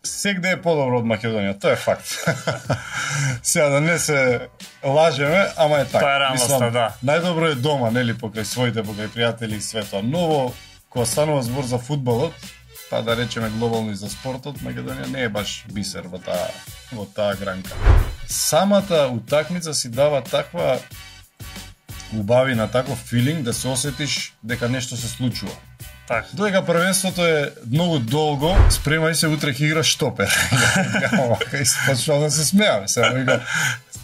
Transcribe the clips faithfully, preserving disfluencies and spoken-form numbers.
Сегде е подобро од Македонија, тоа е факт. Сега да не се лажеме, ама е така. Тоа е реалноста, да. Најдобро е дома, нели, покрај своите, покрај пријатели и све тоа. Но кога станува збор за фудбалот, па да речеме глобално и за спортот, Македонија не е баш бисер во таа во таа гранка. Самата утакмица си дава таква убавина, таков филинг да се осетиш дека нешто се случува. Так. Додека првенството е многу долго, спремај се, утре ќе играш штопер. И почнав да се смеам. Сега вика,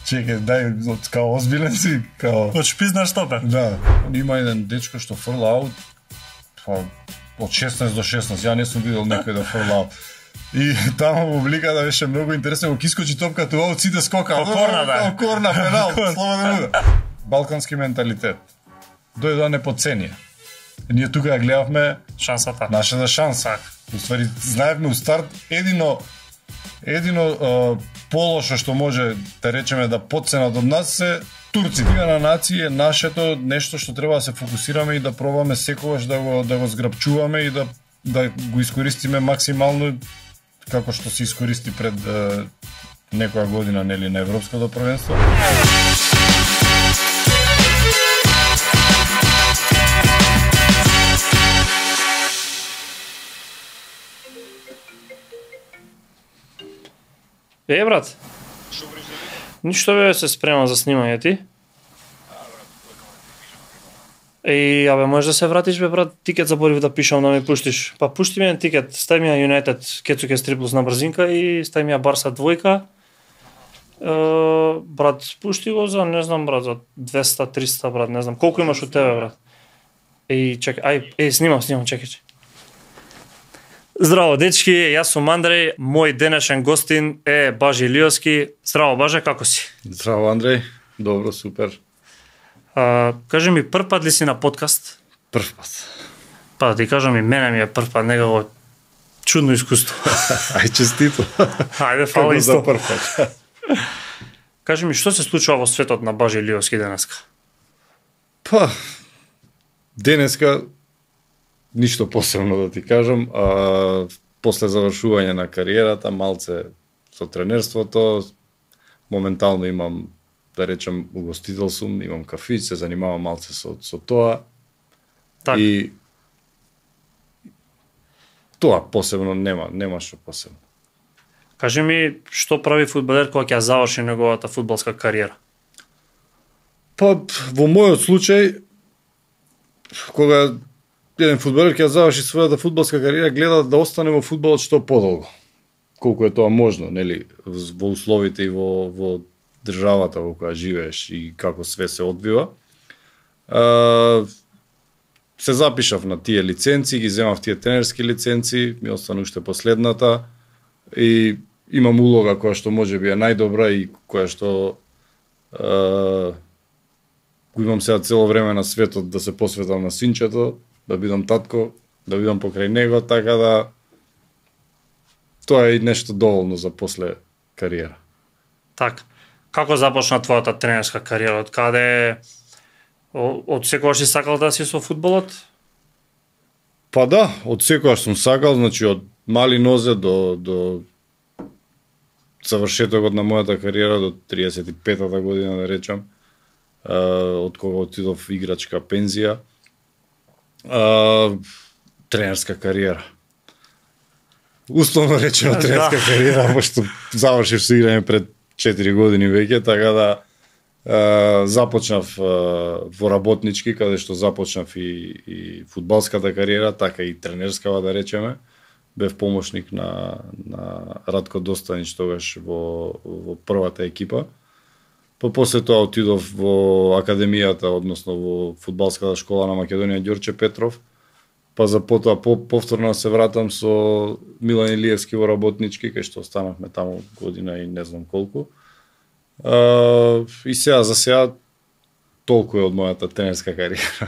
чекај, дај, као озбилен си, као... Од шпизна штопер. Да. Има еден дечко што фрла аут, па, од шеснаесет до шеснаесет, ја не сум видел некој да фрла аут. И таму публиката беше многу интересно, кога искочи топката у аут, сите скока. Ко корна, да. Ко корна, пенал, слободен удар. Балкански менталитет. Дојде да не подценија. Ние тука ја гледавме шансата. Нашата шанса. Уствари, знаевме у старт едино едино е, полошо што може да речеме да подценат од нас се турци. Лига на нации е нашето нешто што треба да се фокусираме и да пробаме секогаш да го да го зграпчуваме и да да го искористиме максимално како што се искористи пред е, некоја година, нели, на европското првенство. Е, брат. Ништо бе, се спремам за снимање ти. Еј, абе, можеш да се вратиш, бе, брат, тикет заборив да пишам, да ми пуштиш. Па пушти ми еден тикет, стај ми ја Юнайтед, Кецуке Стриплус на брзинка и стај ми ја Барса двојка. Е, брат, пушти го за, не знам, брат, за двеста триста, брат, не знам. Колку имаш од тебе, брат? Еј, чекај, ај, еј, снимам, снимам, чекај, чекај. Здраво, дечки, јас сум Андреј, мој денешен гостин е Бажи Илиовски. Здраво, Баже, како си? Здраво, Андреј, добро, супер. А, кажи ми, прв пат ли си на подкаст? Прв пат. Па да ти кажам и мене ми е прв пат, некако чудно искуство. Ај, честито. Ајде, фала исто. За прв пат. Кажи ми, што се случува во светот на Бажи Илиовски денеска? Па, денеска ништо посебно да ти кажам, а после завршување на кариерата, малце со тренерството, моментално имам, да речем, угостител сум, имам кафиć, се занимавам малце со, со тоа. Так. И тоа посебно нема, нема што посебно. Кажи ми, што прави фудбалер кога ќе заврши неговата фудбалска кариера? Па, во мојот случај, кога еден фудбалер ќе заврши својата фудбалска кариера, гледа да остане во фудбалот што подолго. Колку е тоа можно, нели, во условите и во, во државата во која живееш и како све се одвива. А, се запишав на тие лиценци, ги земав тие тренерски лиценци, ми остана уште последната и имам улога која што може би е најдобра и која што а, го имам сега цело време на светот да се посветам на синчето, да бидам татко, да бидам покрај него, така да тоа е и нешто доволно за после кариера. Так. Како започна твојата тренерска кариера? Од каде од секогаш си сакал да си со фудбалот? Па да, од секогаш сум сакал, значи од мали нозе до до завршетокот на мојата кариера до триесет и петата година, да речам, од кога отидов играчка пензија. Uh, тренерска кариера. Условно речено тренерска да. кариера, пошто завршив со играње пред четири години веќе, така да uh, започнав uh, во работнички, каде што започнав и, и фудбалската кариера, така и тренерскава, да речеме. Бев помошник на, на Радко Достанич тогаш во, во првата екипа. Па после тоа отидов во академијата, односно во фудбалската школа на Македонија Ѓорче Петров. Па за потоа по, повторно се вратам со Милан Илиевски во работнички, кај што останавме таму година и не знам колку. А, и сега за сега толку е од мојата тренерска кариера.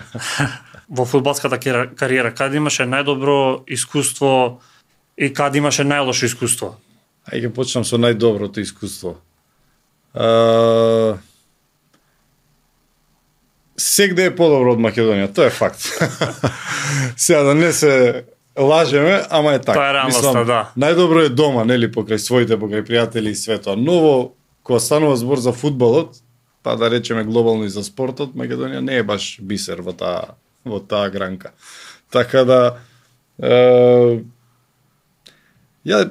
Во фудбалската кариера каде имаше најдобро искуство и каде имаше најлошо искуство? Ајде почнам со најдоброто искуство. Uh, сегде е подобро од Македонија, тоа е факт. Сега да не се лажеме, ама е така. Тоа е реалноста, да. Најдобро е дома, нели, покрај своите, покрај пријатели и све тоа. Ново, кога станува збор за фудбалот, па да речеме глобално и за спортот, Македонија не е баш бисер во таа во таа гранка. Така да е, ја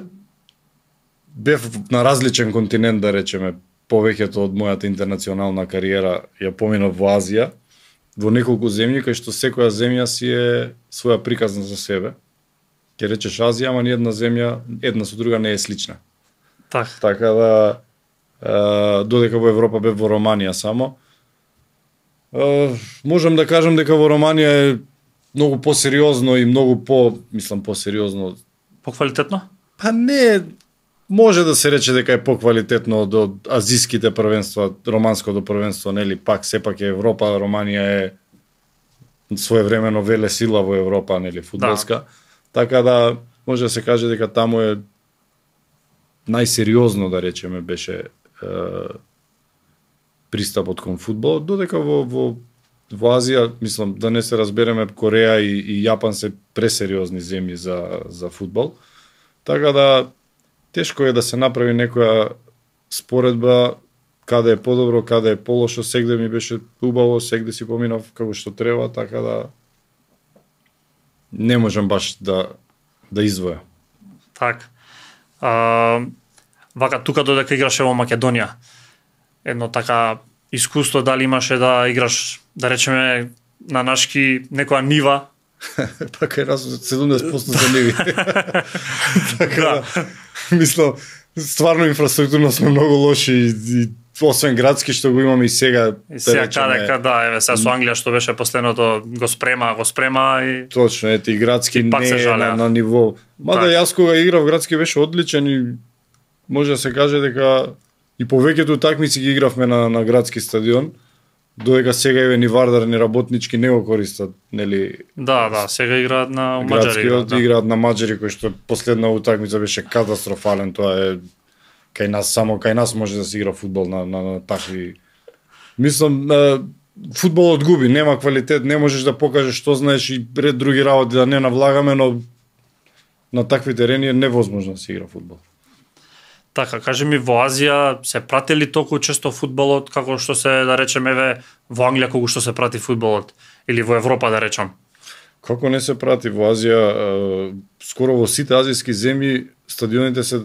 бев на различен континент, да речеме, повеќето од мојата интернационална кариера ја поминав во Азија, во неколку земји, кај што секоја земја си е своја приказна за себе. Ке речеш Азија, ама ни една земја, една со друга не е слична. Так. Така да, е, додека во Европа бев во Романија само, е, можам да кажам дека во Романија е многу посериозно и многу по, мислам, посериозно. Поквалитетно? Па не, може да се рече дека е поквалитетно од, од азиските првенства, романското првенство, нели, пак сепак е Европа, Романија е своевремено веле сила во Европа, нели, фудбалска. Да. Така да може да се каже дека таму е најсериозно, да речеме, беше е, пристапот кон фудбал, додека во, во, во Азија, мислам, да не се разбереме, Кореја и, и Јапан се пресериозни земји за, за фудбал. Така да тешко е да се направи некоја споредба каде е подобро, каде е полошо, сегде ми беше убаво, сегде си поминав како што треба, така да не можам баш да да извоја. Так. А, вака тука додека играше во Македонија, едно така искуство дали имаше да играш, да речеме, на нашки некоја нива? Па кај нас седумдесет проценти се ниви. Така да, мислам, стварно инфраструктурно сме многу лоши и, и освен градски што го имаме и сега. И сега каде, да, еве сега со Англија што беше последното го спрема, го спрема и точно, ете и градски и не е на, на ниво. Мада так. Јас кога играв градски беше одличен и може да се каже дека и повеќето такмици ги игравме на на градски стадион. Додека сега еве ни Вардар ни работнички не го користат, нели? Да, да, сега играат на Маđари. Градскиот да. играат на Маđари, кој што последна утакмица беше катастрофален, тоа е кај нас, само кај нас може да се игра фудбал на, на, на такви. Мислам, фудбалот губи, нема квалитет, не можеш да покажеш што знаеш и ред други работи да не навлагаме, но на такви терени е невозможно да се игра фудбал. Така, кажи ми, во Азија се прати ли толку често фудбалот како што се, да речеме, еве во Англија колку што се прати фудбалот или во Европа, да речам? Како не се прати во Азија, скоро во сите азијски земји стадионите се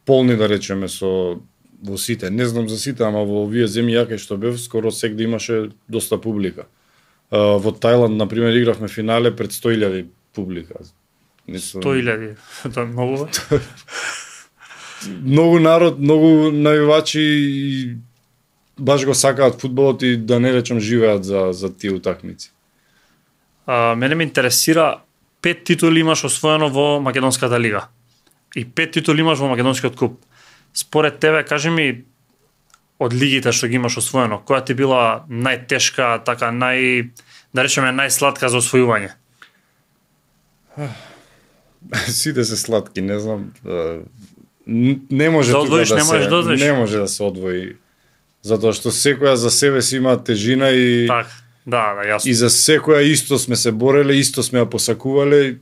полни, да речеме, со во сите. Не знам за сите, ама во овие земји ја кај што бев, скоро сегде имаше доста публика. Во Тајланд, на пример, игравме финале пред сто илјади публика. сто илјади, тоа е многу. Многу народ, многу навивачи и баш го сакаат фудбалот и да не речам живеат за за тие утакмици. А, мене ме интересира, пет титули имаш освоено во Македонската лига. И пет титули имаш во Македонскиот куп. Според тебе, кажи ми, од лигите што ги имаш освоено, која ти била најтешка, така нај, да речеме, најсладка за освојување? Сите се сладки, не знам. Не може да тука одвоиш, да не можеш се, да одвоиш. не може да се одвои. Затоа што секоја за себе си има тежина и Так, да, да, јасно. и за секоја исто сме се бореле, исто сме ја посакувале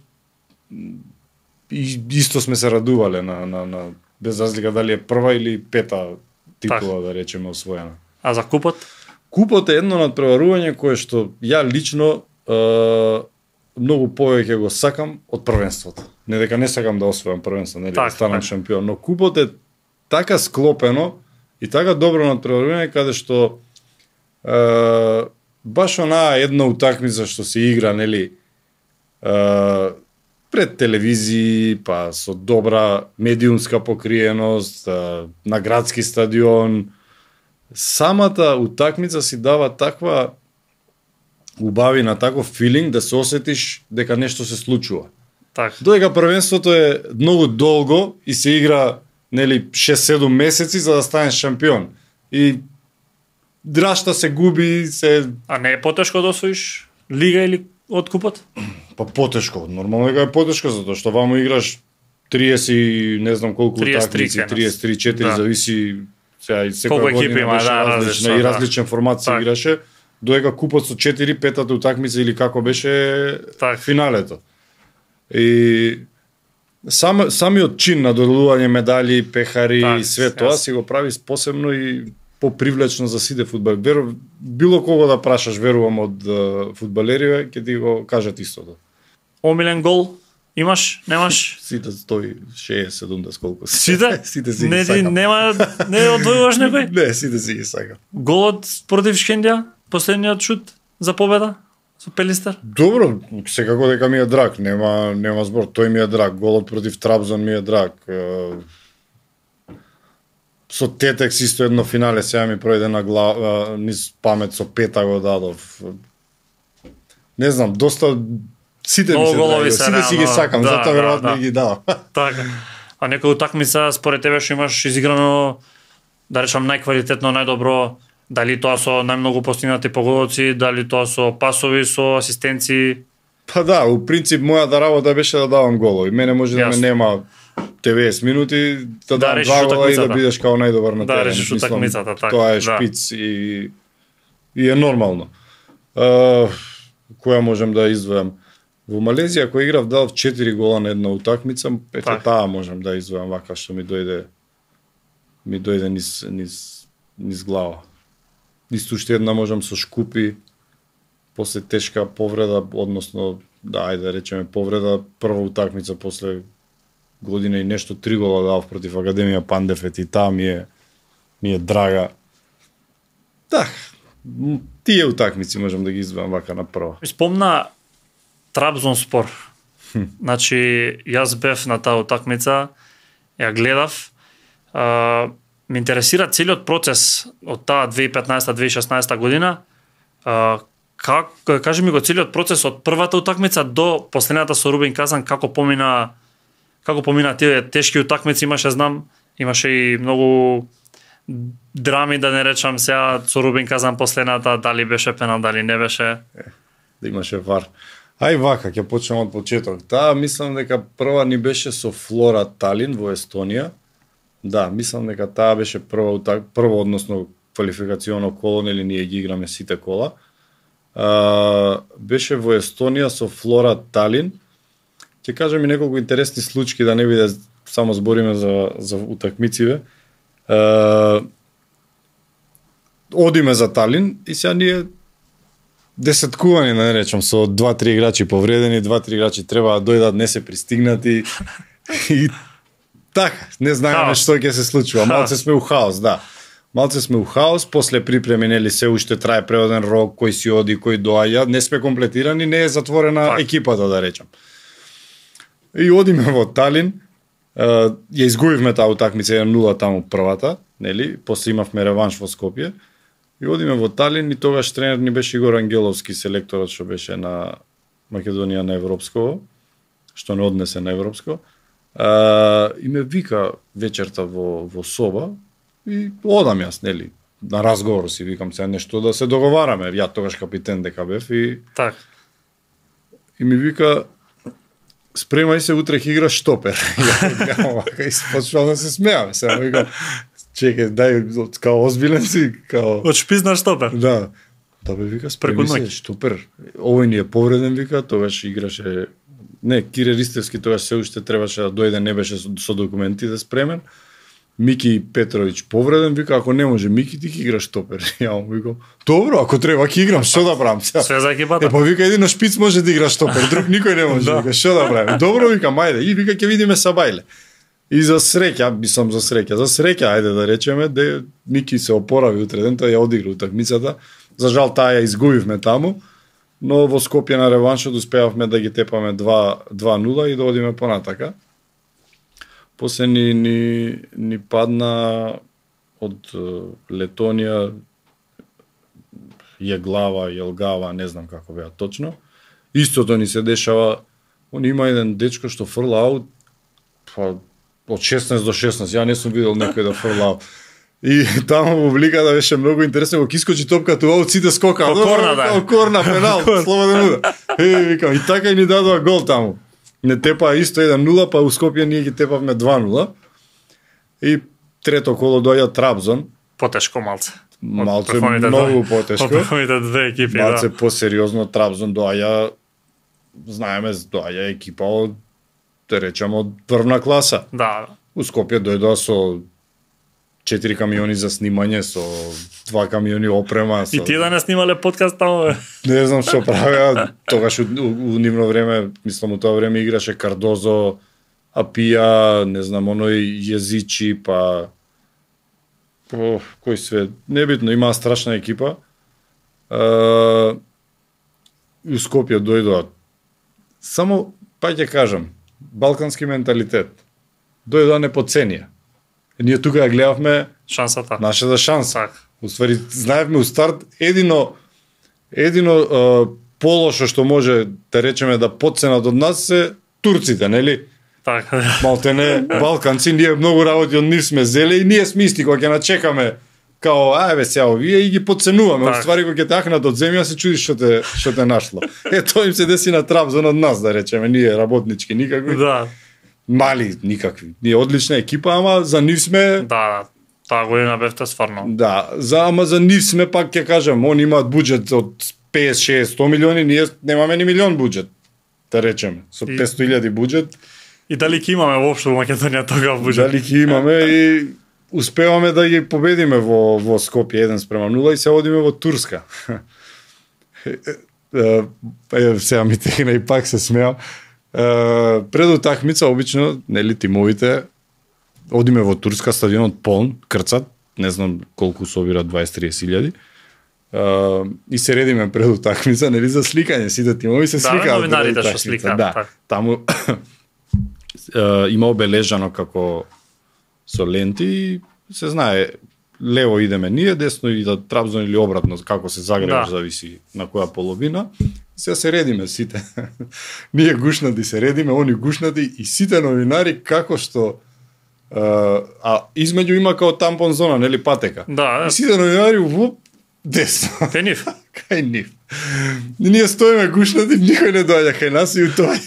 и исто сме се радувале на на на без разлика дали е прва или пета титула, да речеме, освоена. А за купот? Купот е едно надпреварување кое што ја лично е, многу повеќе го сакам од првенството. Не дека не сакам да освојам првенство, нели, да станам шампион, но купот е така склопено и така добро надпреварување каде што е, баш онаа една утакмица што се игра, нели, е, пред телевизии, па со добра медиумска покриеност, е, на градски стадион, самата утакмица си дава таква убавина, таков филинг да се осетиш дека нешто се случува. Так. Додека првенството е многу долго и се игра, нели, шест-седум месеци за да станеш шампион. И драшта се губи, се... А не е потешко да освоиш лига или од купот? Па потешко, нормално дека е потешко, затоа што вамо играш триесет, не знам колку утакмици, триесет три четири, да. Зависи сега и секоја година има, беше да, различна и различен формат се играше. Додека купот со четири, петата утакмица или како беше так. Финалето. И сам, самиот чин на доделување медали, пехари Так, и све тоа јас. си го прави посебно и попривлечно за сите фудбал. Веру, било кого да прашаш, верувам од uh, фудбалериве, ќе ти го кажат истото. Омилен гол имаш, немаш? Сите стои шеесет седумдесет колку си. Сите? Сите си Не ги ти сакам. нема не одвојуваш некој? Не, сите си ги сакам. Голот против Шкендија, последниот шут за победа со Пелистер? Добро, секако дека ми е драг, нема нема збор, тој ми е драг, голот против Трабзон ми е драг. Е, Со Тетекс исто едно финале сега ми пројде на глава, низ памет со пета го дадов. Не знам, доста сите Многу ми се голови драги, се, сите си ги реално, сакам, да, затоа да, веројатно да. ги дадам. Така. А некој утакмица според тебе што имаш изиграно, да речам најквалитетно, најдобро, дали тоа со најмногу постигнати погодоци, дали тоа со пасови, со асистенции? Па да, у принцип мојата работа беше да давам голови. Мене може да ме Јасно. нема деветдесет минути, да, Да дам решиш два гола и да утакмицата. бидеш као најдобар на Да терен. решиш Мислам, утакмицата, така, Тоа е да. шпиц и и е нормално. Uh, која можем да издвојам? Во Малезија кој играв дав четири гола на една утакмица, ете Така. таа можем да издвојам вака што ми дојде ми дојде низ низ низ глава. Исто уште една можам со Шкупи, после тешка повреда, односно, да, ајде да речеме повреда, прва утакмица после година и нешто, три гола дав против Академија Пандефет и таа ми е, ми е драга. Да, м, тие утакмици можам да ги издвојам вака на прва. Ми спомна Трабзонспор. Значи, јас бев на таа утакмица, ја гледав. А, ме интересира целиот процес од таа две илјади и петнаесета две илјади и шеснаесета година. А, как, кажи ми го целиот процес од првата утакмица до последната со Рубин Казан, како помина како помина тие тешки утакмици, имаше, знам, имаше и многу драми, да не речам сега, со Рубин Казан последната, дали беше пенал, дали не беше. Да имаше вар. Ај вака, ќе почнем од почеток. Таа мислам дека прва ни беше со Флора Талин во Естонија. Да, мислам дека таа беше прва утак, прво односно квалификационо коло, нели ние ги играме сите кола. А, беше во Естонија со Флора Талин. Ќе кажам и неколку интересни случаи, да не биде само збориме за за утакмициве. А, одиме за Талин и сега ние десеткувани, да не речам, со два-три играчи повредени, два-три играчи треба да дојдат, не се пристигнати. И така, не знаеме Хаос. што ќе се случува. Малце сме у хаос, да. Малце сме у хаос, после припреми, нели, се уште трае преводен рок, кој си оди, кој доаѓа, не сме комплетирани, не е затворена Так. екипата, да речам. И одиме во Талин, ја изгубивме таа утакмица еден нула таму првата, нели, после имавме реванш во Скопје. И одиме во Талин и тогаш тренер ни беше Игор Ангеловски, селекторот што беше на Македонија на Европско, што не однесе на Европско. А, и ме вика вечерта во, во соба и одам јас, нели, на разговор си викам се нешто да се договараме. Ја тогаш капитен дека бев и, Так. и ми вика спремај се, утре ќе играш штопер. Ја викам вака и почнав да се смеам. Сега викам чекај, дај, као озбилен си, као... Од шпиц на штопер. Да. Да бе, вика, Преку спреми се, ноќ. штопер. Овој ни е повреден, вика, тогаш играше... Не, Кире Ристевски тогаш се уште требаше да дојде, не беше со, со документи да спремен. Мики Петровиќ повреден, вика, ако не може Мики, ти ќе играш штопер. Ја му викам, добро, ако треба ќе играм, што да правам сега? Све за екипата. Е, па вика, едино шпиц може да игра штопер, друг никој не може, Да. вика, што да правим? Добро, викам, ајде, и вика, ќе видиме Сабајле. И за среќа, мислам за среќа, за среќа, ајде да речеме, де Мики се опорави утре ден, тој ја одигра утакмицата. За жал таа ја изгубивме таму, но во Скопје на реваншот успеавме да ги тепаме два нула и да одиме понатака. После ни, ни, ни падна од е, Летонија Јеглава, Јелгава, не знам како беа точно. Истото ни се дешава, он има еден дечко што фрла аут, па од шеснаесет до шеснаесет, ја не сум видел некој да фрла аут. И таму во вликата беше многу интересно, кога искочи топката у аут, сите скокаа. Ко корна, да. Као корна, пенал, слободен удар. Е, викам, и така и ни дадоа гол таму. Не тепаа исто еден нула, па у Скопје ние ги тепавме два нула. И трето коло доаѓа Трабзон, Потешко малце. Од малце првите многу две- потешко. Од првите две екипи, Малце да. посериозно Трабзон доаѓа знаеме, доаѓа екипа од, да речеме, од врвна класа. Да. У Скопје дојдоа со четири камиони за снимање, со два камиони опрема. Со... И тие да не снимале подкаст таму, бе? Не знам што правеа, тогаш у, у, у нивно време, мислам у тоа време играше Кардозо, Апија, не знам, оној Језичи, па... О, кој све, небитно, имаа страшна екипа. Uh, у Скопје дојдоа. Само, па ќе кажам, балкански менталитет. Дојдоа не по ценија. Ние тука ја гледавме шансата. Нашата шанса. Так. Уствари, знаевме у старт, едино, едино uh, полошо што може да речеме да подценат од нас се турците, нели? Така. Малтене, балканци, ние многу работи од нив сме зеле и ние сме исти кога ќе начекаме као, ајбе сега овие и ги подценуваме. Так. Уствари кога ќе тахнат од земја се чудиш што те што те нашло. Е тоа им се деси на Трабзон од нас, да речеме, ние работнички никакви. Да. Мали никакви. Ние одлична екипа, ама за нив сме. Да, таа година бевте стварно. Да, за ама за нив сме пак ќе кажам, они имаат буџет од петдесет, шест, сто милиони, ние немаме ни милион буџет. Да речеме, со петстотини илјади буџет. И дали ќе имаме воопшто во Македонија тогава буџет? Дали ќе имаме и успеваме да ги победиме во во Скопје еден спрема нула и се одиме во Турска. Е, сега ми тегна и пак се смеам. Пред утакмица обично, нели тимовите одиме во Турска, стадионот полн, крцат, не знам колку собира дваесет до триесет илјади. Uh, и се редиме пред утакмица, нели за сликање, сите тимови се да, сликаат. Новинарите што сликаат. Да, так. таму uh, има обележано како со ленти и се знае лево идеме ние, десно и да Трабзон или обратно, како се загреваш, да. Зависи на која половина. Сега се редиме сите. Ние гушнати се редиме, они гушнати и сите новинари како што uh, а измеѓу има као тампон зона, нели патека. Да. И сите новинари во десно. Кај нив. Кај нив. И ние стоиме гушнати, никој не доаѓа кај нас и тоа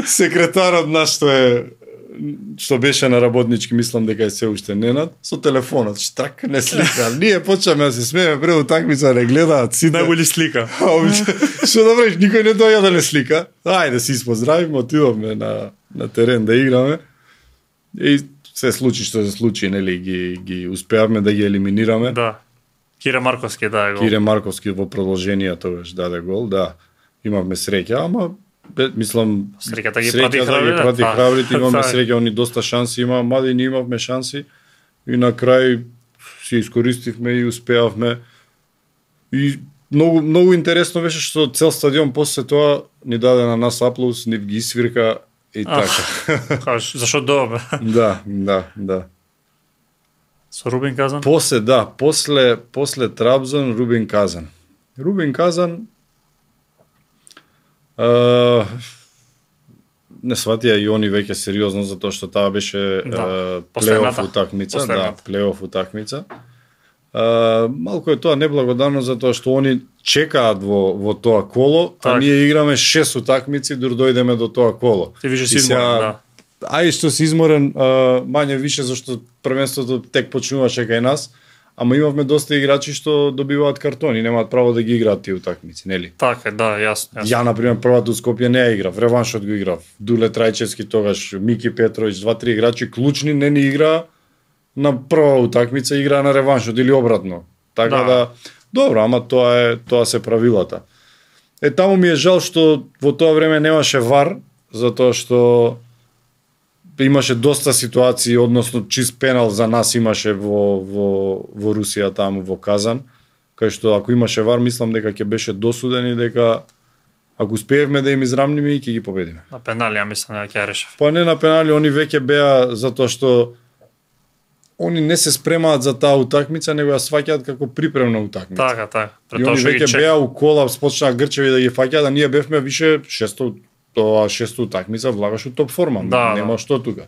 секретарот наш што е што беше на работнички, мислам дека е се уште Ненад, со телефонот, штрак не слика. Ние почнеме да се смееме пред утакмица, не гледаат сите. Најголи слика. Што да правиш, никој не доаѓа да не слика. Ајде си испоздравиме, отидовме на на терен да играме. И се случи што се случи, нели ги ги успеавме да ги елиминираме. Да. Кире Марковски даде гол. Кире Марковски во продолжение тогаш даде гол, да. Имавме среќа, ама бе, мислам среќата ги прати да ги прати да. храбрите, имаме среќа, они доста шанси има, мали ние имавме шанси и на крај си искористивме и успеавме. И многу многу интересно беше што цел стадион после тоа ни даде на нас аплауз, ни ги свирка и така. Кажеш, зашо добре? Да, да, да. Со Рубин Казан? После, да, после, после Трабзон, Рубин Казан. Рубин Казан uh, не сватија и они веќе сериозно, затоа што таа беше да, uh, плейоф утакмица. Да, плейоф утакмица. Uh, малку е тоа неблагодарно, затоа што они чекаат во, во тоа коло, так. А ние играме шест утакмици, дур дојдеме до тоа коло. Ти више си изморен, да. Ај што си изморен, uh, мање више, зашто првенството тек почнуваше кај нас, ама имавме доста играчи што добиваат картони, немаат право да ги играат тие утакмици, нели? Така, да, јасно, јасно. Ја, например, првата у Скопје не ја играв, реваншот го играв. Дуле Трајчевски тогаш, Мики Петровиќ, два-три играчи клучни не ни играа на прва утакмица, играа на реваншот или обратно. Така да, да добро, ама тоа е тоа се правилата. Е, таму ми е жал што во тоа време немаше вар, затоа што имаше доста ситуации, односно чист пенал за нас имаше во, во, во Русија таму во Казан, кај што ако имаше вар, мислам дека ќе беше досуден и дека ако успеевме да им израмниме и ќе ги победиме. На пенали, ја мислам дека ќе решев. Па не на пенали, они веќе беа затоа што они не се спремаат за таа утакмица, него ја сваќаат како припремна утакмица. Така, така. И они веќе беа у колапс, почнаа грчеви да ги фаќаат, а ние бевме више шесто тоа шесто утакмица влагаш у топ форма, да, нема да. што тука.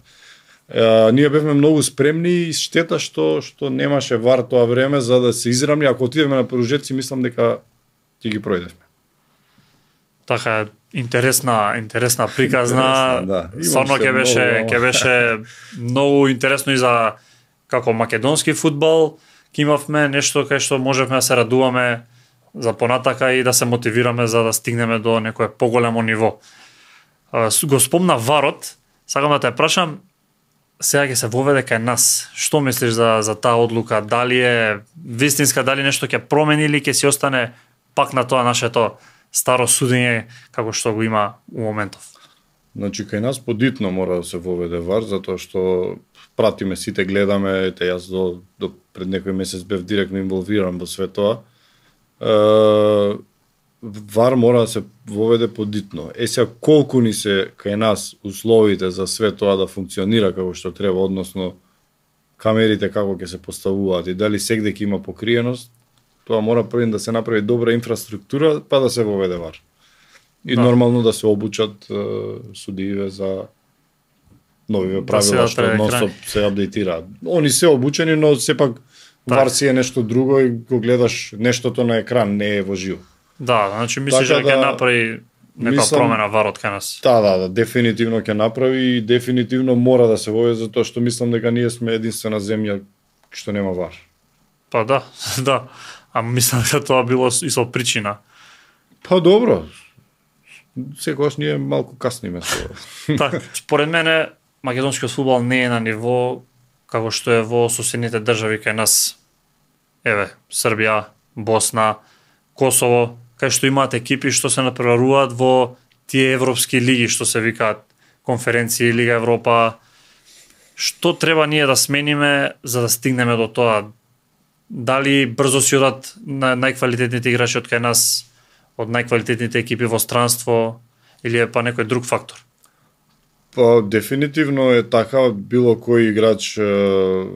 Е, ние бевме многу спремни и штета што што немаше вар тоа време за да се израмни, ако отидеме на продолжетци, мислам дека ќе ги пројдевме. Така, интересна, интересна приказна. Да. Стварно ќе беше, ќе беше многу интересно и за како македонски фудбал, ќе имавме нешто кај што можевме да се радуваме за понатака и да се мотивираме за да стигнеме до некое поголемо ниво. Го спомна варот, сакам да те прашам, сега ќе се воведе кај нас. Што мислиш за за таа одлука? Дали е вистинска, дали нешто ќе промени или ќе си остане пак на тоа нашето старо судење како што го има у моментов? Значи кај нас подитно мора да се воведе вар, затоа што пратиме сите, гледаме, те јас до, до пред некој месец бев директно инволвиран во све тоа. Е, вар мора да се воведе подитно. Е сега колку ни се кај нас условите за све тоа да функционира како што треба, односно камерите како ќе се поставуваат и дали сегде ќе има покриеност, тоа мора прво да се направи добра инфраструктура, па да се воведе вар. И да. Нормално да се обучат е, судиите за новиве правила да што нон-стоп се апдейтираат. Они се обучени, но сепак вар си е нешто друго и го гледаш нештото на екран, не е во живо. Да, значи мислиш дека ќе да, направи нека промена варот кај нас? Да, да, да, дефинитивно ќе направи и дефинитивно мора да се воведе затоа што мислам дека ние сме единствена земја што нема вар. Па да, да. А мислам дека тоа било и со причина. Па добро. Секогаш ние малку касниме со. Така, според мене македонскиот фудбал не е на ниво како што е во соседните држави кај нас. Еве, Србија, Босна, Косово, кај што имаат екипи што се напреваруваат во тие европски лиги што се викаат конференции, Лига Европа. Што треба ние да смениме за да стигнеме до тоа? Дали брзо си одат на најквалитетните играчи од кај нас, од најквалитетните екипи во странство, или е па некој друг фактор? Па дефинитивно е така, било кој играч е,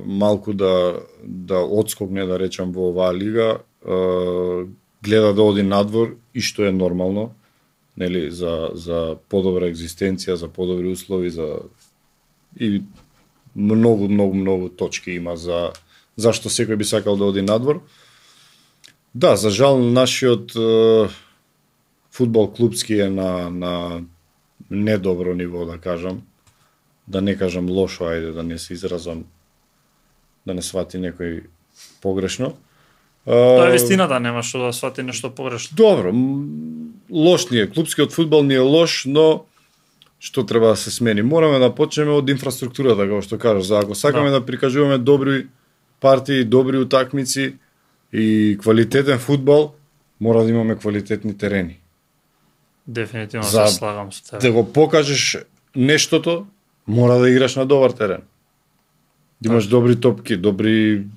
малку да да одскокне, да речам, во оваа лига, е, гледа да оди надвор и што е нормално, нели, за за подобра екзистенција, за подобри услови, за и многу многу многу точки има за зашто секој би сакал да оди надвор. Да, за жал нашиот е, фудбал клубски е на на недобро ниво, да кажам. Да не кажам лошо, ајде да не се изразам, да не свати некој погрешно. Тоа е вистината, нема што да свати нешто погрешно. Добро, лош ни е, клубскиот фудбал ни е лош, но што треба да се смени? Мораме да почнеме од инфраструктурата, како што кажаш, за ако сакаме да, да прикажуваме добри партии, добри утакмици и квалитетен фудбал, мора да имаме квалитетни терени. Дефинитивно за се слагам со тебе. Да го покажеш нештото, мора да играш на добар терен. Да имаш добри топки, добри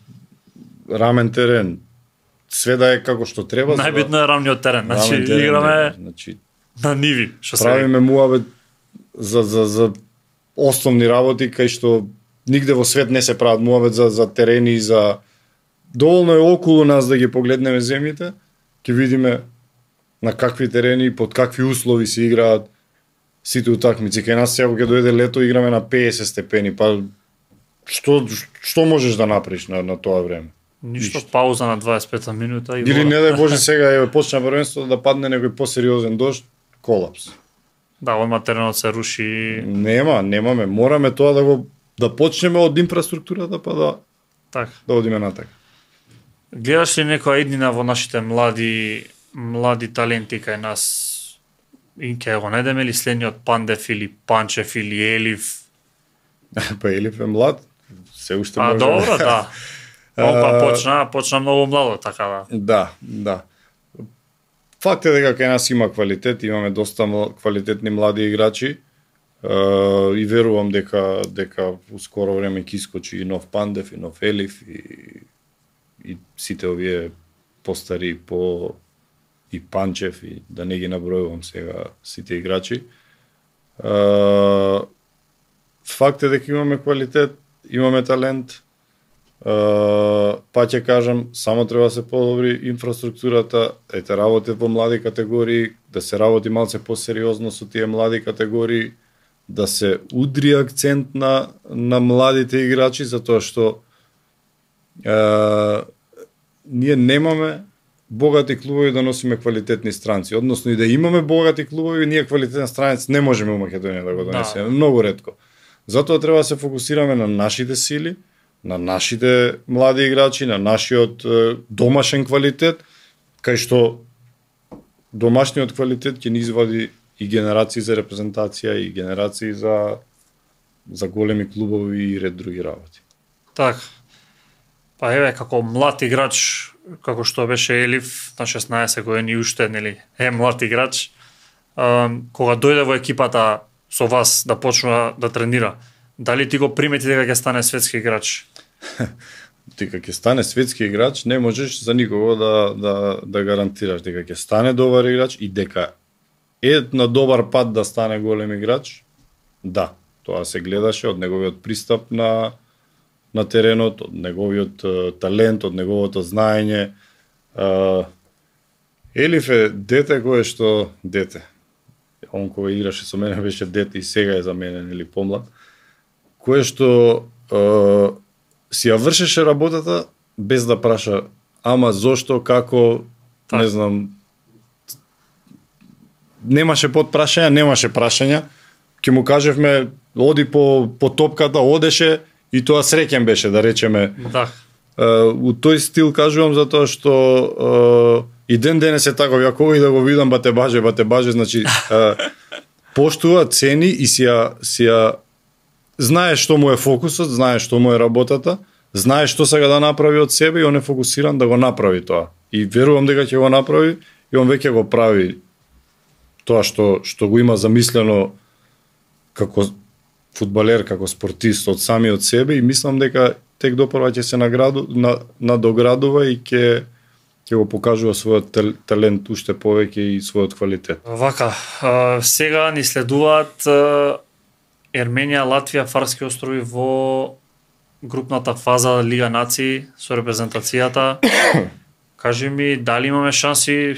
рамен терен, све да е како што треба. Најбитно е рамниот терен, значи терен, играме значи, на ниви, што се правиме муабет за за за основни работи кај што нигде во свет не се прават муабет за за терени и за доволно е околу нас да ги погледнеме земјите, ќе видиме на какви терени, под какви услови се играат сите утакмици. Кај нас сега ќе дојде лето, играме на петдесет степени, па што што можеш да направиш на на тоа време? Ништо, пауза на дваесет и пета минута и или не дај Боже сега е почна првенството да падне некој посериозен дожд, колапс. Да, одма теренот се руши. Нема, немаме, мораме тоа да го да почнеме од инфраструктурата па да така. Да одиме натака. Гледаш ли некоја иднина во нашите млади млади таленти кај нас? И ќе го најдеме ли следниот Пандев или Панчев или Елив? Па Елив е млад, се уште може. А добро, да. Он па почна, почна многу младо, така да. Да, да. Факт е дека кај нас има квалитет, имаме доста квалитетни млади играчи. Uh, и верувам дека дека во скоро време ќе искочи и нов Пандев, и нов Елив, и, и сите овие постари, по и Панчев, и да не ги набројувам сега сите играчи. Uh, факт е дека имаме квалитет, имаме талент. Uh, па ќе кажам, само треба да се подобри инфраструктурата, ете работи во млади категории, да се работи малце посериозно со тие млади категории, да се удри акцент на на младите играчи, затоа што е, ние немаме богати клубови да носиме квалитетни странци, односно и да имаме богати клубови, ние квалитетен странец не можеме у Македонија да го донесеме, да. Многу ретко. Затоа треба да се фокусираме на нашите сили, на нашите млади играчи, на нашиот е, домашен квалитет, кај што домашниот квалитет ќе ни извади и генерации за репрезентација и генерации за за големи клубови и ред други работи. Так. Па еве како млад играч, како што беше Елиф на шеснаесет години и уште нели е млад играч, кога дојде во екипата со вас да почна да тренира, дали ти го примети дека ќе стане светски играч? Дека ќе стане светски играч, не можеш за никого да да да гарантираш дека ќе стане добар играч и дека е на добар пат да стане голем играч. Да, тоа се гледаше од неговиот пристап на на теренот, од неговиот uh, талент, од неговото знаење. Uh, Елиф е дете кое што дете. Он кога играше со мене беше дете и сега е за мене нели помлад. Кое што uh, си ја вршеше работата без да праша ама зошто, како, так. Не знам. Немаше подпрашања, немаше прашања. Ќе му кажевме оди по по топката, одеше и тоа среќен беше, да речеме. Да. Uh, у тој стил кажувам затоа што uh, и ден денес е таков, ако и да го видам бате баже, бате баже, значи uh, поштува, цени и си ја, си ја знае што му е фокусот, знае што му е работата, знае што сега да направи од себе и он е фокусиран да го направи тоа. И верувам дека ќе го направи и он веќе го прави тоа што што го има замислено како фудбалер, како спортист од самиот себе и мислам дека тек допрва ќе се награду, на, надоградува и ќе ќе го покажува својот талент уште повеќе и својот квалитет. Вака, а, сега ни следуваат а, Ерменија, Латвија, Фарски острови во групната фаза Лига нации со репрезентацијата. Кажи ми, дали имаме шанси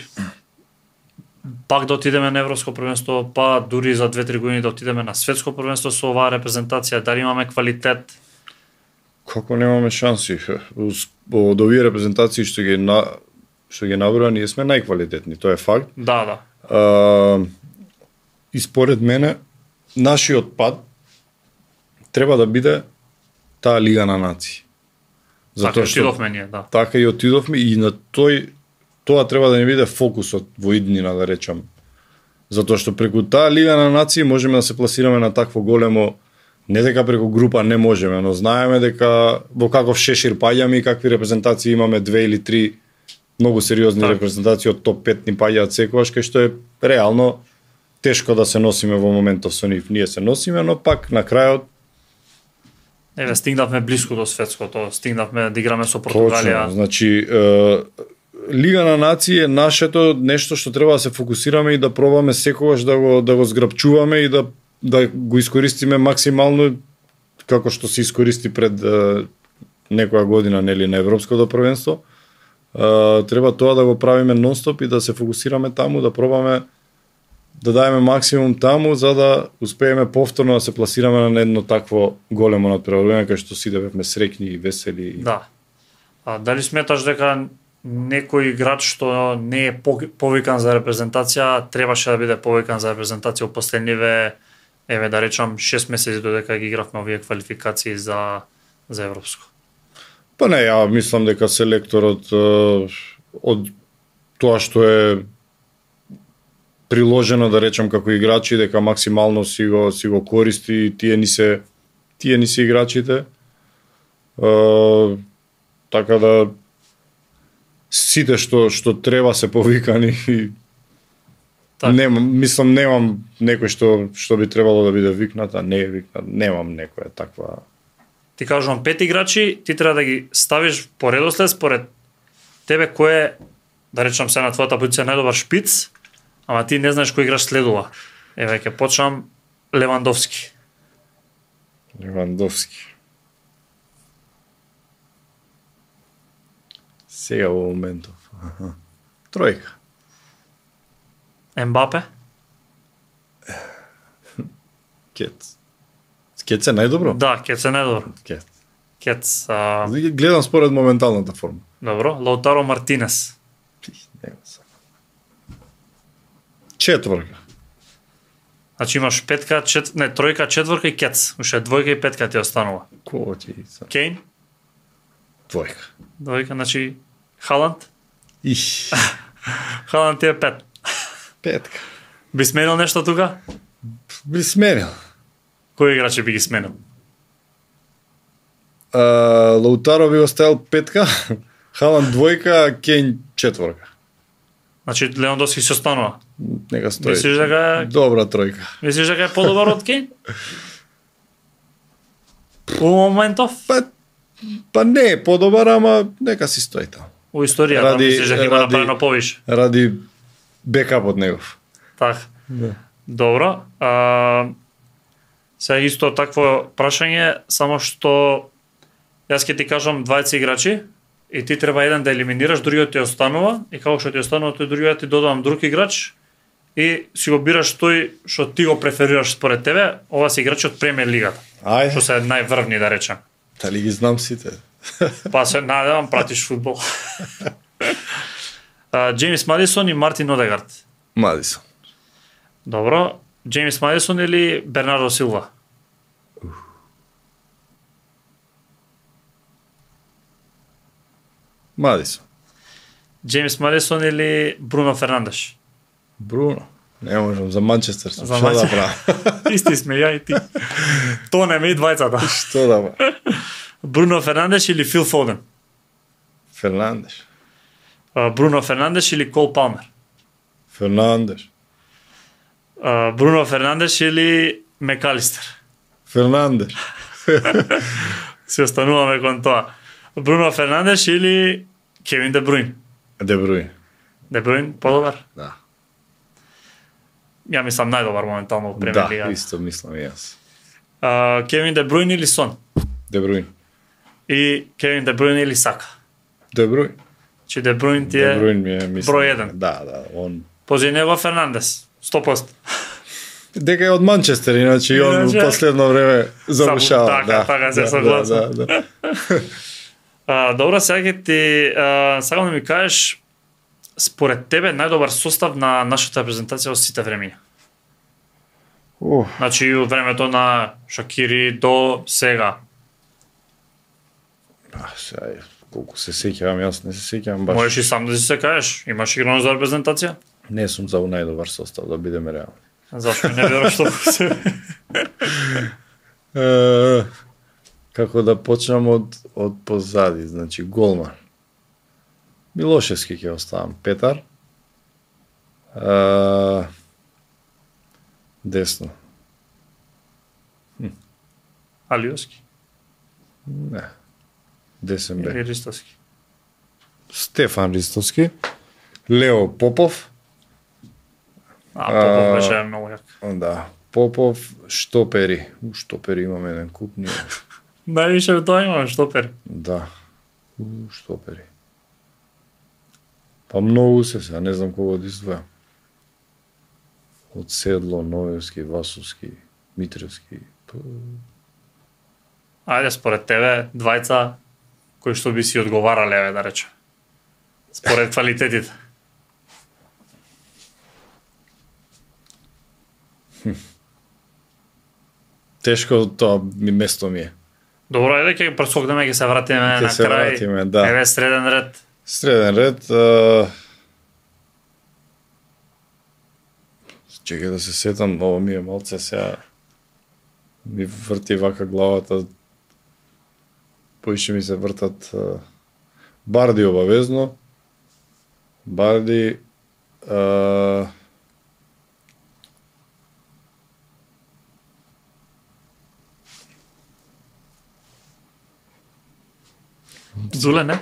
пак да отидеме на Европско првенство, па дури за две-три години да отидеме на Светско првенство со оваа репрезентација, дали имаме квалитет? Како немаме шанси? Од овие репрезентации што ги на што ги наброја, ние сме најквалитетни, тоа е факт. Да, да. А, и според мене нашиот пат треба да биде таа Лига на нации. Затоа така отидовме ние, да. Така и отидовме и на тој тоа треба да ни биде фокусот во иднина, да речам. Затоа што преку таа Лига на нации можеме да се пласираме на такво големо, не дека преку група не можеме, но знаеме дека во каков шешир паѓаме и какви репрезентации имаме, две или три многу сериозни так. Репрезентации од топ пет ни паѓаат секогаш, кај што е реално тешко да се носиме во моментов со нив. Ние се носиме, но пак на крајот еве стигнавме блиску до светското, стигнавме да играме со Португалија. Точно, значи е, Лига на нации е нашето нешто што треба да се фокусираме и да пробаме секогаш да го да го зграпчуваме и да да го искористиме максимално како што се искористи пред е, некоја година нели на Европското првенство. Uh, треба тоа да го правиме нонстоп и да се фокусираме таму, да пробаме да даеме максимум таму за да успееме повторно да се пласираме на едно такво големо надпреварување кај што сите бевме среќни и весели. Да. А дали сметаш дека некој играч што не е повикан за репрезентација требаше да биде повикан за репрезентација во последниве, еве да речам шест месеци додека ги игравме овие квалификации за за европско? Па не, ја мислам дека селекторот од тоа што е приложено, да речам, како играчи, дека максимално си го си го користи, тие ни се тие ни се играчите. Е, така да сите што што треба се повикани и так. Немам, мислам немам некој што што би требало да биде викнат, а не е викнат, немам некоја таква. Ти кажувам пет играчи, ти треба да ги ставиш по редослед според тебе кој е, да речам се на твојата позиција најдобар шпиц, ама ти не знаеш кој играч следува. Еве ќе почнам Левандовски. Левандовски. Сега во моментов. Аха. Тројка. Ембапе? Кец. Кец е најдобро? Да, Кец е најдобро. Кец. Кец. А... Гледам според моменталната форма. Добро. Лаутаро Мартинес. Четворка. Значи имаш петка, чет... не, тројка, четворка и Кец. Уште двојка и петка ти останува. Кој ти са? Кейн? Двојка. Двојка, значи Халанд? Иш. Халанд ти е пет. Петка. Би сменил нешто тука? Би сменил. Кои играчи би ги сменил? Uh, Лаутаро би оставил петка, Халанд двојка, Кейн четворка. Значи Левандовски се останува. Нека стои. Мислиш дека е Добра тројка. Мислиш дека е подобар од Кейн? У моментов? Па, па не е подобар, ама нека си стои таму. У историјата Ради- мислиш дека има ради- направено повише. Ради бекапот негов. Така. Да. Добро. А, сега исто такво прашање, само што јас ќе ти кажам двајца играчи и ти треба еден да елиминираш, другиот ти останува и како што ти останува тој другиот ти додавам друг играч и си го бираш тој што ти го преферираш според тебе, ова се играчи од премиер лигата, Ајде, што се најврвни да речем. дали ги знам сите? Па се надевам пратиш фудбал. А, Джеймс Мадисон и Мартин Одегард. Мадисон. Добро. Джеймс Мадисон или Бернардо Силва? Мадисон. Джеймс Мадисон или Бруно Фернандеш? Бруно. Не можам, за Манчестер сум. За Што да Манчестер. правам? Исти сме ја и ти. Тонеме и двајцата. Што да правам? Бруно Фернандеш или Фил Фоден? Фернандеш. А, Бруно Фернандеш или Кол Палмер? Фернандеш. А, Бруно Фернандеш или Мекалистер? Фернандеш. Се остануваме кон тоа. Бруно Фернандеш или Кевин Де Бруин? Де Бруин. Де Бруин подобар? Да. Ја мислам најдобар моментално во премиер Да, лига. исто мислам и јас. А, Кевин Де Бруин или Сон? Де Бруин. И Кевин Де Бруин или Сака? Де Бруин. Че Де Бруин ти Де е Бруин ми е мислам. број еден. Да, да, он Пози него Фернандес. сто проценти. дека е од Манчестер, иначе и он Иначе- во последно време завршава. Така, да, така се да, согласам. Да, да, да. А, добро, сега ќе ти а, сакам да ми кажеш според тебе најдобар состав на нашата репрезентација од сите времиња. Ух, Значи и од времето на Шакири до сега. а, сега, колку се сеќавам, јас не се сеќавам баш. Можеш и сам да си се кажеш, имаш играно за репрезентација? Не сум за најдобар состав, да бидеме реални. Зашто не веруваш што се. Е, како да почнам од, од позади, значи голман. Милошевски ќе оставам, Петар. Е, десно. Алиоски Не. Десен бек. или Ристовски? Стефан Ристовски. Лео Попов. А, Попов А, беше многу јак. Да. Попов, штопери. У, штопери имаме еден куп. Ние. Највише од тоа имаме штопер. Да. У, штопери. Па многу се сега, не знам кого да издвојам. Од Седло, Новевски, Васовски, Митревски. П- Ајде, според тебе, двајца кои што би си одговарале, еве да речем. Според квалитетите. Тешко тоа ми место ми е. Добро, ајде ќе прескокнеме, ќе се вратиме Ќе на се крај. вратиме, да. Еве среден ред. Среден ред. А... Чекај да се сетам, ово ми е малце сега. Ми врти вака главата. Поише ми се вртат а... Барди обавезно. Барди... А... Зуле, не?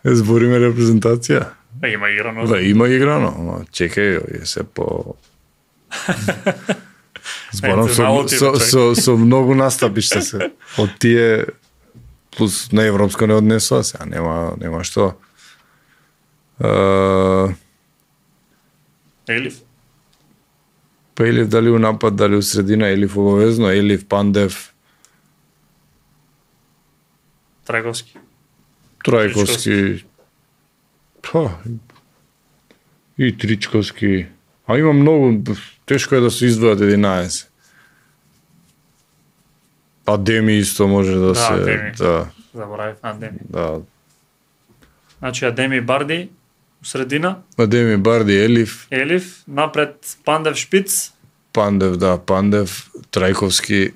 Збориме репрезентација. Е, има играно. Да, има играно, ама чекај, е се по... Зборам Ете, со, наоти, со, човек. со, со многу настапи што се. Од тие плюс на европско не однесува, сега нема, нема што. Uh, Елиф. па Елиф дали у напад, дали у средина, Елиф обавезно, Елиф, Пандев, Трајковски. Трајковски, па, и Тричковски. А има многу, тешко е да се издвојат единаесет. Адеми исто може да, Да, се... Адеми. Да, Заборавив Андеми. да. Значи Адеми Барди у средина, Адеми Барди, Елиф, Елиф, напред Пандев Шпиц, Пандев, да, Пандев, Трајковски,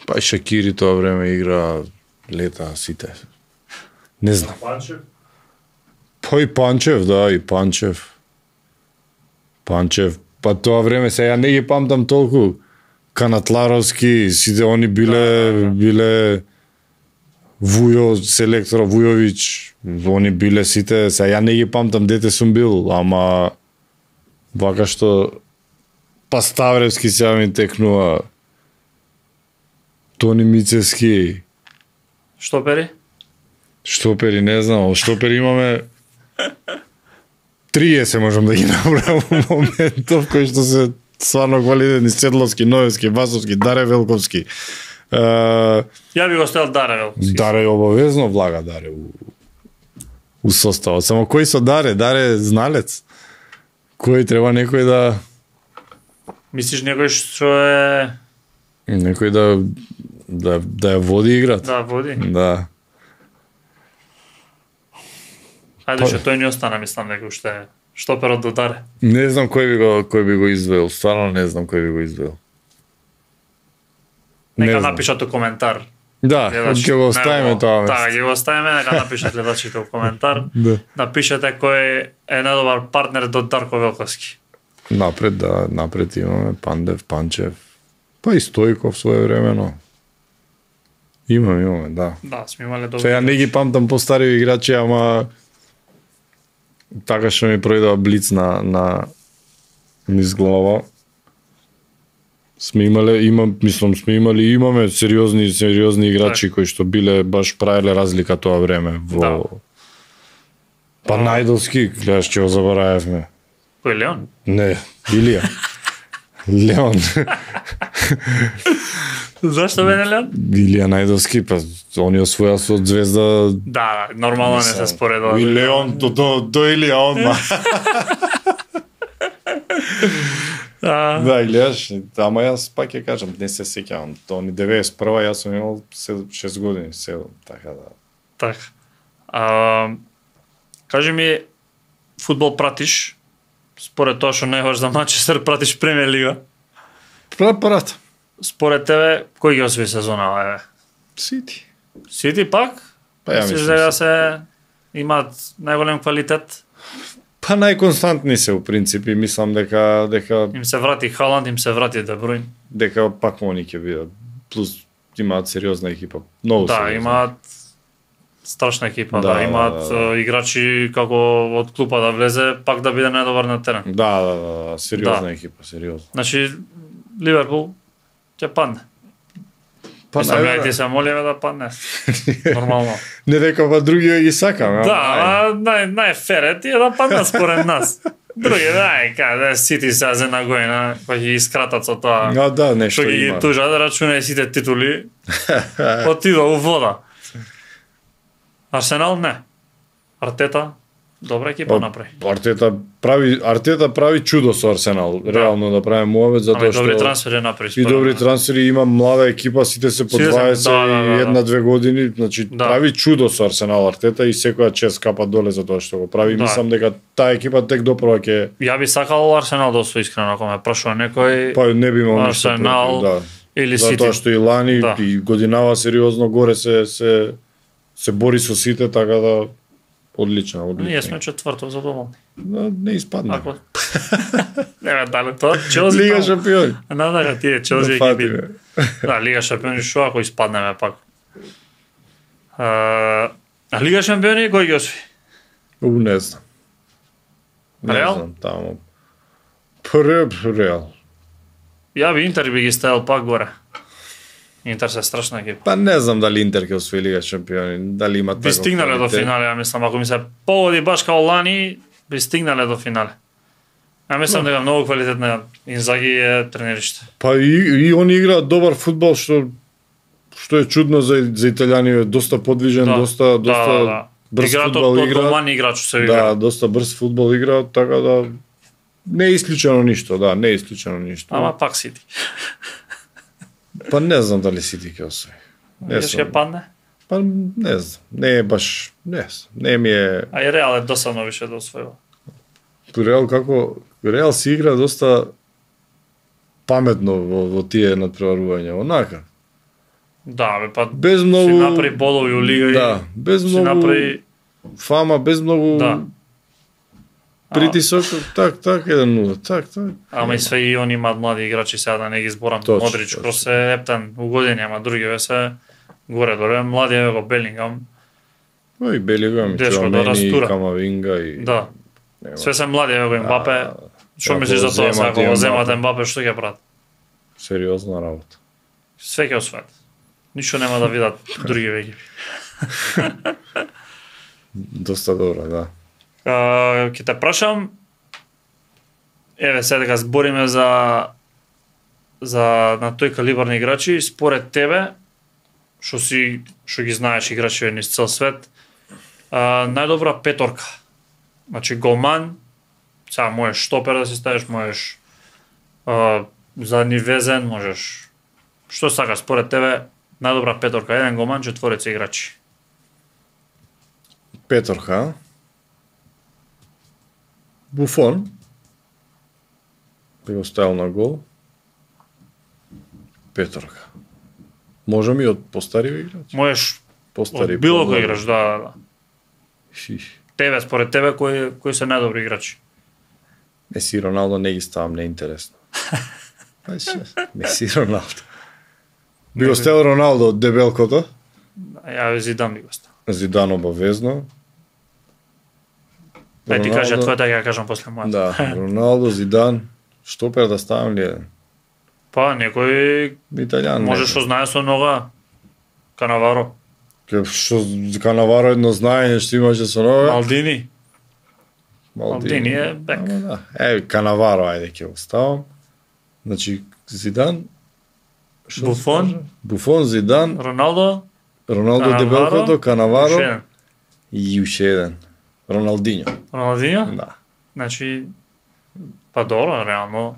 па и Шакири тоа време игра лета сите. Не знам. Панчев. Па и Панчев, да, и Панчев. Панчев, па тоа време се ја не ги памтам толку. Канатларовски, сите они биле Да, да, да. биле Вујо, селектор Вујовиќ, они биле сите, се ја не ги памтам дете сум бил, ама вака што па Ставревски сега ми текнува, Тони Мицевски, Штопери? штопери не знам, штопери имаме триесет можам да ги набравам во моментов кои што се стварно квалитетни: Седловски, Новевски, Васовски, Даре Велковски. Е, Ја би го ставил Даревел. Даре обавезно влага Даре у, у составот. Само кој со Даре? Даре зналец. Кој треба некој да Мислиш некој што е некој да да да ја води играта. да води? Да. Ајде Па- што тој не остана, мислам некој што е штоперот до Даре. Не знам кој би го кој би го извел, стварно не знам кој би го извел. Не Нека знам. напишат у коментар. Да, гледачите. ќе го оставиме Него- тоа. Да, ќе го оставиме, нека напишат гледачите у коментар. Да. Напишете кој е најдобар партнер до Дарко Велковски. Напред, да, напред имаме Пандев, Панчев, па и Стојков своевремено. Имаме, имаме, да. Да, сме имале добри. Сега не ги памтам постари играчи, ама така што ми пројдува блиц на на низ глава. Сме имале, имам, мислам, сме имали, имаме сериозни, сериозни играчи кои што биле баш правеле разлика тоа време во Да. Па Најдовски, гледаш, ќе го заборавевме. Кој е Леон? Не, Илија. Леон. Зашто бе не Леон? Илија Најдовски, па он ја освоја со Звезда. Да, нормално не се споредува. И Леон, до, до, до Илија одма. А, Да, гледаш, ама јас пак ќе кажам, не се сеќавам. Тоа ни деветдесет и прва јас сум имал шест години, седум, така да. така. А, кажи ми, фудбал пратиш? Според тоа што најгаш за Манчестер, пратиш Премиер лига? Прат, прат. Според тебе, кој ги освои сезонава, еве? Сити. Сити пак? Па ја Мислиш мислам. дека се имаат најголем квалитет? Па најконстантни се у принципи, мислам дека дека Им се врати Халанд, им се врати Де Брујн. дека пак они ќе бидат. Плюс имаат сериозна екипа. Многу Да, сериозна. имаат страшна екипа, Да, да, имаат да, да. е, играчи како од клупа да влезе, пак да биде најдобар на терен. Да, да, да, да, сериозна Да. екипа, сериозно. Значи, Ливерпул ќе падне. Па Мислам, ја и најверојатно. ти се молиме да падне. Нормално. Не дека па други ги сакам, Да, а нај најфер е тие да паднат според нас. Други, да, каде Сити се за една година, па ќе ги скратат со тоа. А, да, нешто Што ги има. тужат, да рачунај сите титули, отидо у вода. Арсенал не. Артета, добра екипа О, направи. Артета прави Артета прави чудо со Арсенал, реално да прави муавет Ама затоа и добри што трансфери направи. и според добри мене. трансфери, има млада екипа, сите се по Сите се- дваесет да, да, да, и да. една-две години, значи Да. прави чудо со Арсенал Артета и секоја чест капа доле за тоа што го прави. Да. Мислам дека таа екипа тек допрва ќе Ја би сакал Арсенал да освои искрено, ако ме прашува некој па не би имал ништо Арсенал против, да. или Сити. Затоа што и лани Да. и годинава сериозно горе се се се бори со сите, така да одлично, одлично. Ние сме четврто задоволни. Да, не испадна. Ако не ме дали тоа, Челси. Лига таму. шампиони. Надага тие Челси Да екипи. фатиме. Да, Лига шампиони што ако испаднеме пак. А, а Лига шампиони кој ги освои? У, не знам. Не Реал? знам, таму. Пре, Реал. Ја би Интер би ги ставил пак горе. Интер се страшна екипа. Па не знам дали Интер ќе освои Лига шампиони, дали има Би таков стигнале до квалитет. финале, ја мислам, ако ми се погоди баш као лани, би стигнале до финале. Ја мислам дека многу квалитетна Инзаги е тренериште. Па и, и они играат добар фудбал, што што е чудно за за италијани, е доста подвижен, Да. доста доста Да, да, да. брз Играат фудбал од, од играат. домани играч се Да, игра. доста брз фудбал играат, така да не е исклучено ништо, да, не е исклучено ништо. Ама пак Сити. Па не знам дали Сити ќе освои. Не Јас ќе сум. падне. Па не знам, не е баш, не знам, не ми е... А и Реал е досадно више да освојува. Реал како... Реал си игра доста паметно во, во тие надпреварувања, онака. Да, бе, па Без многу... си направи болови у лига Да, без и си многу направи... фама, без многу Да. притисок, так, так, еден нула, так, так. Ама и све и они имаат млади играчи, сега да не ги зборам. Точно, Модрич, точно. Крос е ептен у години, ама други ве се горе доле. Млади е го Белингам. Но и Белигам, и Тешко да Чуамени, и растура. Камавинга и... Да. Нема. Све се млади е го Ембапе. Што ако мислиш за тоа, земат сега ако го Ембапе. земат Ембапе, што ќе прават? Сериозна работа. Све ќе освојат. Ништо нема да видат други екипи. Доста добро, да. Uh, ќе те прашам, еве сега дека збориме за за на тој калибар на играчи, според тебе, што си што ги знаеш играчи низ цел свет, uh, најдобра петорка. Значи голман, сега можеш штопер да си ставиш, можеш uh, задни везен, можеш што сакаш според тебе најдобра петорка, еден голман, четворица играчи. Петорка. Буфон. Би го ставил на гол. Петорка. Можем и од постари играчи? Можеш Постари. од било кој помлади. играш, да, да, да. Шиш. Тебе, според тебе, кои, кои се најдобри играчи? Меси и Роналдо не ги ставам, не е интересно. Меси и Роналдо. Би го ставил Роналдо од дебелкото. Ја Зидан би го став. Зидан обавезно. Ај ти Роналдо- кажа твојата, ќе ја кажам после мојата. Да, Роналдо, Зидан, штопер да ставам ли еден? Па, некој Италијан. може што знае со нога. Канаваро, Ке што Канаваро едно знаење што имаше со нога. Малдини. Малдини е бек. Ама да. Е, Канаваро, ајде ќе го ставам. Значи, Зидан, што Буфон. се кажа? Буфон, Зидан, Роналдо, Роналдо Канаваро, дебелкото, уште Канаваро еден. и уште еден. Роналдињо. Роналдињо? Да. Значи, па добро, реално,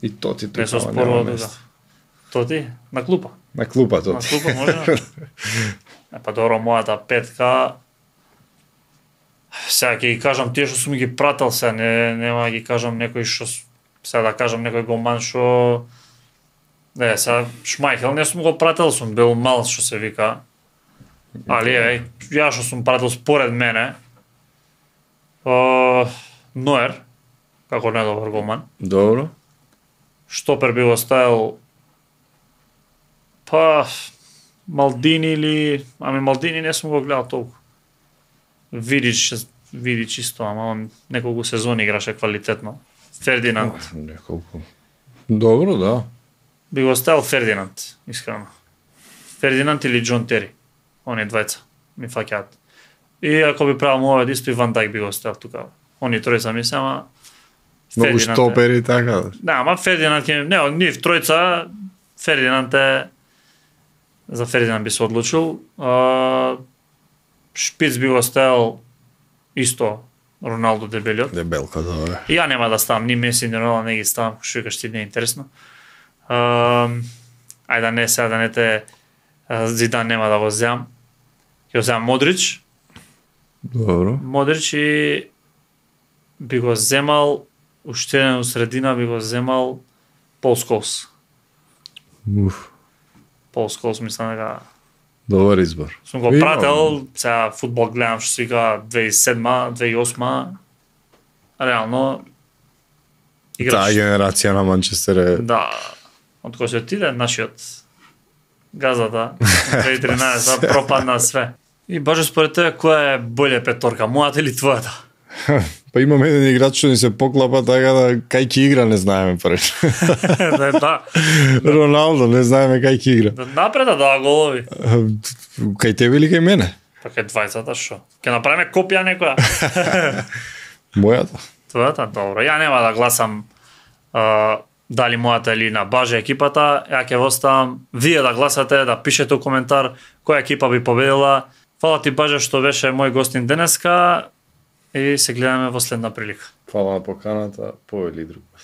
И то ти не се тука, ама спорува нема тука. место. То ти, на клупа. На клупа то На ти. клупа може. Е, па добро, мојата петка, сега ќе ги кажам тие што сум ги прател, сега не, нема да ги кажам некој што, с- сега да кажам некој голман што, не, сега Шмајхел не сум го прател, сум бил мал што се вика, али е, ја што сум прател според мене, о, Ноер, како најдобар голман, Добро. штопер би го ставил, па, Малдини или, ами Малдини не сум го гледал толку. Видич, Видич исто, ама он неколку сезони играше квалитетно. Фердинанд. Неколку. Добро, да. Би го ставил Фердинанд, искрено. Фердинанд или Џон Тери. Они двајца ми фаќаат. И ако би правил мојот испи Ван Дајк би го ставил тука. Они тројца ми се, ама Многу Фердинанд е- штопери така. Да, ама Фердинанд ќе... Не, од нив тројца, Фердинанд е... За Фердинанд би се одлучил. А, Шпиц би го ставил исто Роналдо дебелиот. Дебелка, добро. И ја нема да ставам ни Меси, ни Роналдо, не ги ставам, што викаш ти не е интересно. А, ајде да не сега да не те а, Зидан нема да го земам. Ќе го земам Модрич. Добро. Модрич и би го земал уште еден у средина би го земал Пол Сколс. Уф. Пол Сколс мислам дека Добар избор. сум го Има, прател, сега фудбал гледам што се вика две тисечи и седма, две тисечи и осма. Реално Таа играш. генерација на Манчестер е Да, од кој се отиде нашиот газата две тисечи и тринаесетта пропадна све. И баш според тебе која е болја петорка, мојата или твојата? Па имаме еден играч што ни се поклапа така да кај ќе игра не знаеме преш. да, да, Роналдо не знаеме кај ќе игра. да напреда да голови. Кај тебе или кај мене? Па кај двајцата што? Ќе направиме копија некоја? Мојата. Твојата, добро. Ја нема да гласам а, дали мојата или на Баже екипата, ја ќе оставам вие да гласате, да пишете у коментар која екипа би победила. Фала ти Баже што беше мој гостин денеска и се гледаме во следна прилика. Фала на поканата, повели друг пат.